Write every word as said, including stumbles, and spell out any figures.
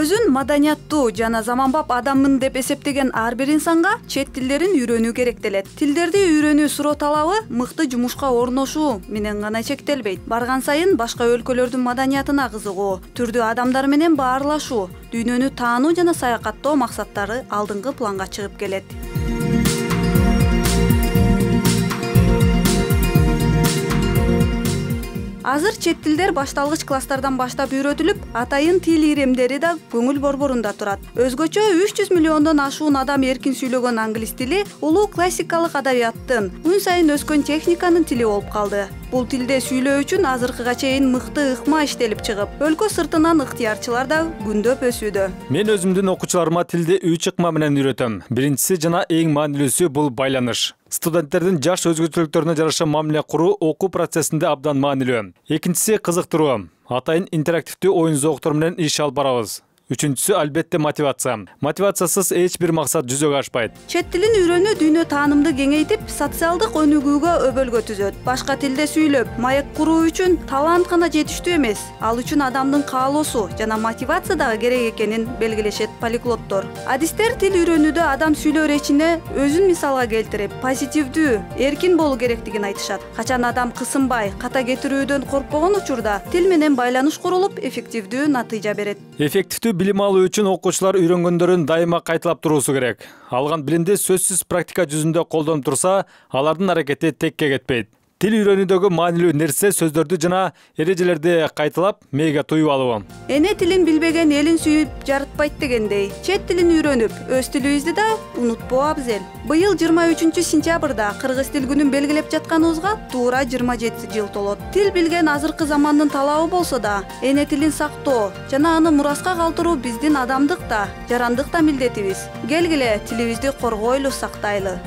Өзүн маданияттуу жана заманбап адаммын деп эсептеген ар бир инсанга чет тилдерин үйрөнүү керектелет. Тилдерди үйрөнүү суроо талабы мыкты жумушка орношуу менен гана чектелбейт. Барган сайын башка өлкөлөрдүн маданиятына кызыгуу, түрдүү адамдар менен баарлашуу, дүйнөнү таануу жана саякаттоо максаттары алдыңкы планга чыгып келет. Азыр чет тилдер башталгыч класстардан баштап үйрөтүлүп, атайын тил иремдери да көңүл борборунда турат. Өзгөчө үч жүз миллиондон ашуун адам эркин сүйлөгөн англис тили улуу классикалык адабияттын, күн сайын өскөн техниканын тили болуп калды. Бул тилде сүйлөө үчүн азыркыга чейин мыкты ыкма иштелип чыгып, өлкө сыртынан ыктыярчылар да күндөп өсүүдө. Мен өзүмдүн окуучуларыма тилди үч ыкма менен үйрөтөм. Биринчиси жана эң маанилүүсү бул байланыш. Студенттердин жаш өзгөчөлүктөрүнө жараша мамиле куруу окуу процессинде абдан маанилүү. Экинчиси кызыктыруу. Атайын интерактивдүү оюн зооктор менен иш алып барабыз. Үчүнчүсү албетте мотивация. Мотивациясыз эч бир максат жүзөгө ашпайт. Чет тилин үйрөнүү дүйнө таанымды кеңейтип, социалдык өнүгүүгө өбөлгө түзөт. Башка тилде сүйлөп, маек куруу үчүн талант гана жетиштүү эмес, ал үчүн адамдын каалоосу жана мотивация дагы керек экенин белгилешет полиглоттор. Адистер тил үйрөнүүдө адам сүйлөө речине өзүн мисалга келтирип, позитивдүү, эркин болуу керектигин айтышат. Качан адам кысынбай, ката кетирүүдөн коркпогон учурда тил менен байланыш курулуп, эффективдүү натыйжа берет. Эффективдүү билим алуу үчүн окуучулар үйрөнгөндөрүн дайыма кайталап туруусу керек. Алган билимди сөзсүз практика жүзүндө колдонуп турса, алардын аракети текке кетпейт. Тил үйрөнүүдөгү маанилүү нерсе сөздөрдү жана эрежелерди кайталап мээге туюп алуу. Эне тилин билбеген элин сүйүп жарытпайт дегендей, чет тилин үйрөнүп, өз тилибизди да унутпоо абзел. Быйыл жыйырма үчүнчү сентябрда кыргыз тил күнүн белгилеп жатканыбызга туура жыйырма жети жыл толот. Тил билген азыркы замандын талабы болсо да, эне тилин сактоо жана аны мураска калтыруу биздин адамдык да, жарандык да милдетибиз. Келгиле тилибизди коргойлу, сактайлы.